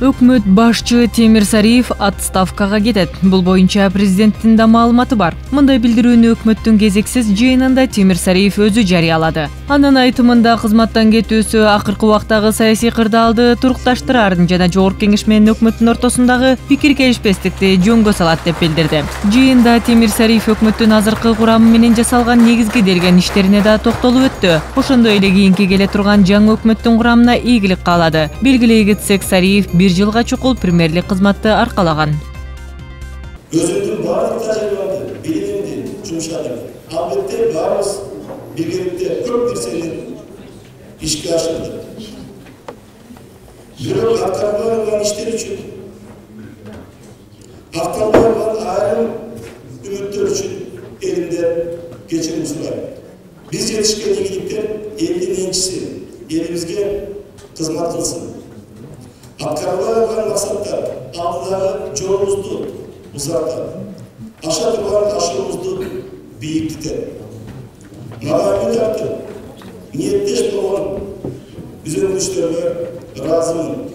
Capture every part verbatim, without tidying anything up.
Өкмөт башчы Темир Сариев отставкага кетет. Бул боюнча президенттин да маалыматы бар. Мындай билдирүүнү өкмөттүн кезексиз жыйынында Темир Сариев өзү жарыялады. Анын айтымында кызматтан кетүүсү акыркы убактагы саясий кырдаалды турукташтырарын жана Жогорку Кеңеш менен өкмөттүн ортосундагы пикир келишпестикти жөнгө салат деп билдирди. Жыйында Темир Сариев өкмөттүн азыркы курамы менен жасалган негизги делген иштерине да токтолуп өттү. Ошондой эле кийинки келе турган жаңы өкмөттүн курамына ийгилик каалады. Белгилей кетсек, Сариев бир жылга чукул премьерлик кызматты аркалаган. Өзүмдүн баардык тажрыйбамды, билимимди жумшадым. Албетте баарыбыз биргеликте көп нерсени ишке ашырдык. Бирок аткарылбай калган иштер үчүн, акталбай калган айрым үмүттөр үчүн элимден кечирим сурайм. Биз жетишкен ийгиликтер элдин энчиси, элибизге кызмат кылсын. Аткарылбай калган максаттар алдыдагы жолубузду узартат, аша турган ташыбызды бийиктетет. Мага үмүт артып, ниеттеш болгон үзөңгүчтөргө ыраазымын.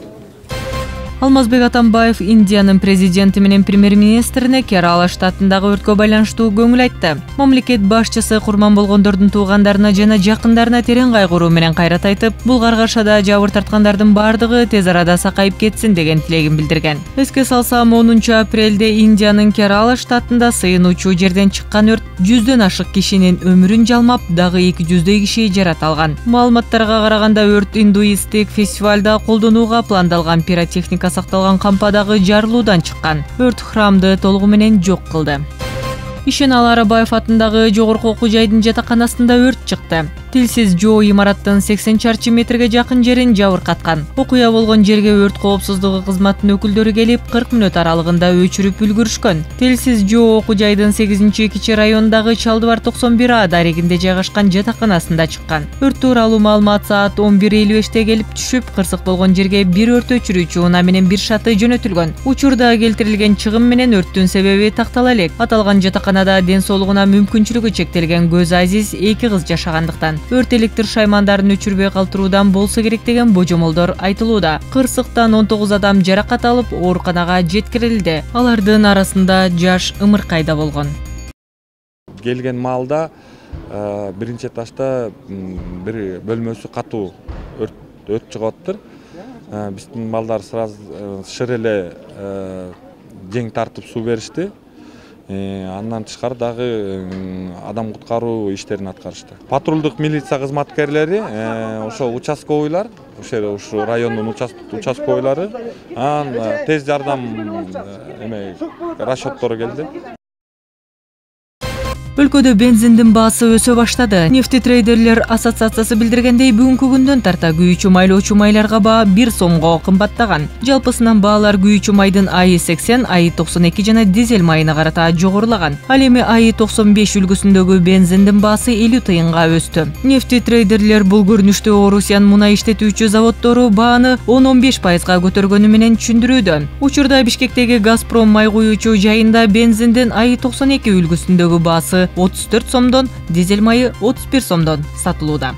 Алмазбек Атамбаев Индиянын президенти менен премьер-министрине Керала штатындагы өрткө байланыштуу көңүл айтты. Мамлекет башчысы курман болгондордун туугандарына жана жакындарына терең кайгыруу менен кайрат айтып, бул каргашада жабыр тарткандардын бардыгы тез арада сакайып кетсин деген тилегин билдирген. Эске салсам, онунчу апрелде Индиянын Керала штатында сыйынуучу жерден чыккан өрт жүздөн ашык кишинин өмүрүн жалмап, дагы эки жүздөй киши жарат алган. Маалыматтарга караганда, өрт индуисттик фестивалда колдонууга пландалган пиротехника сакталган кампадагы жарылуудан чыккан. Өрт храмды толугу менен жок кылды. Ишенал Арабаев атындагы жогорку окуу жайдын жатаканасында өрт чыкты. Тилсиз жоо имараттын сексен чарчы метрге жакын жерин жабыркаткан. Окуя болгон жерге өрт коопсуздугу кызматынын өкүлдөрү келип, кырк мүнөт аралыгында өчүрүп үлгүрүшкөн. Тилсиз жоо окуу жайдын сегизинчи кичи районундагы Чалдыбар токсон бир А дарегинде жайгашкан жатаканасында чыккан. Өрт тууралуу маалымат саат он бир элүү беште келип түшүп, кырсык болгон жерге бир өрт өчүрүүчү унаа менен бир шаты жөнөтүлгөн. Учурда келтирилген чыгым менен өрттүн себеби тактала элек. Аталган жатаканада ден соолугуна мүмкүнчүлүгү чектелген көз азиз эки кыз жашагандыктан өрт электр шаймандарын өчүрбөй калтыруудан болсо керек деген божомолдор айтылууда. Кырсыктан он тогуз адам жаракат алып, ооруканага жеткирилди. Алардын арасында жаш ымыркай да болгон. Келген маалда биринчи этажда бир бөлмөсү катуу өрт чыгып атыптыр. Биздин балдар сразу шыр эле жең тартып суу беришти. Андан тышкары дагы адам куткаруу иштерин аткарышты. Патрулдук милиция кызматкерлери, ошо участковыйлар, ошо ушу райондун участковыйлары, анан тез жардам эме расчеттору келди. Өлкөдө бензиндин баасы өсө баштады. Нефтетрейдерлер ассоциациясы билдиргендей, бүгүнкү күндөн тарта күйүүчү майлоочу майларга баа бир сомго кымбаттаган. Жалпысынан баалар күйүүчү майдын АИ сексен, АИ токсон эки жана дизель майына карата жогорулаган. Ал эми АИ токсон беш үлгүсүндөгү бензиндин баасы элүү тыйынга өстү. Нефтетрейдерлер бул көрүнүштү Орусиян мунай иштетүүчү заводдору бааны он он беш пайызга көтөргөнү менен түшүндүрүүдө. Учурда Бишкектеги Газпром май куюучу жайында бензиндин АИ токсон эки үлгүсүндөгү баасы отуз төрт сомдон, дизель майы отуз бир сомдон сатылууда.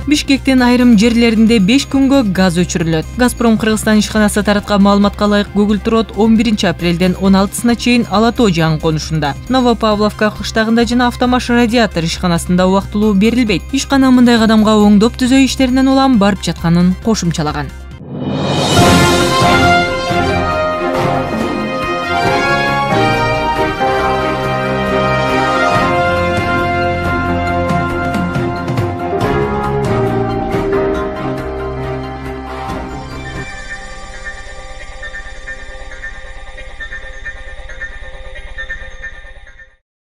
Бишкектин айрым жерлеринде беш күнгө газ өчүрүлөт. Газпром Кыргызстан ишканасы тараткан маалыматка ылайык, Гуглтрод он биринчи апрелден он алтысына чейин ала тоо жаңы конушунда. Новопавловка кыштагында жана Автомаш радиатор ишканасында убактылуу берилбейт. Ишкана мындай кадамга оңдоп түзөө иштеринен улам барып жатканын кошумчалаган.